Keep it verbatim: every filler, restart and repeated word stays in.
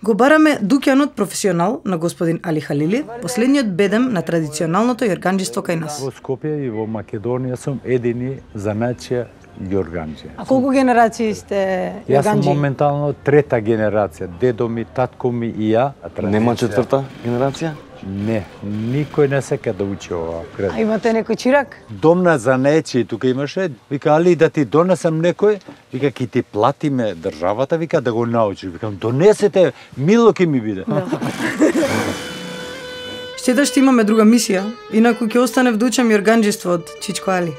Го бараме дуќанот професионал на господин Али Халили, последниот бедем на традиционалното јорганџиство кај нас. Во Скопје и во Македонија сум едини занаќија јорганџи. А колку генерации сте јорганџи? Јас сум моментално трета генерација, дедо ми, татко ми и ја. Нема четврта генерација? Не, никој не сека да учи ова. А имате некој чирак? Домна занајчи тука имаше, вика, али да ти донесам некој, вика, ки ти платиме државата, вика, да го научиш. Викам, донесете, мило ки ми биде. Да. Штета што имаме друга мисија, инаку ќе останев да учам јорганџиство од Чичко Али.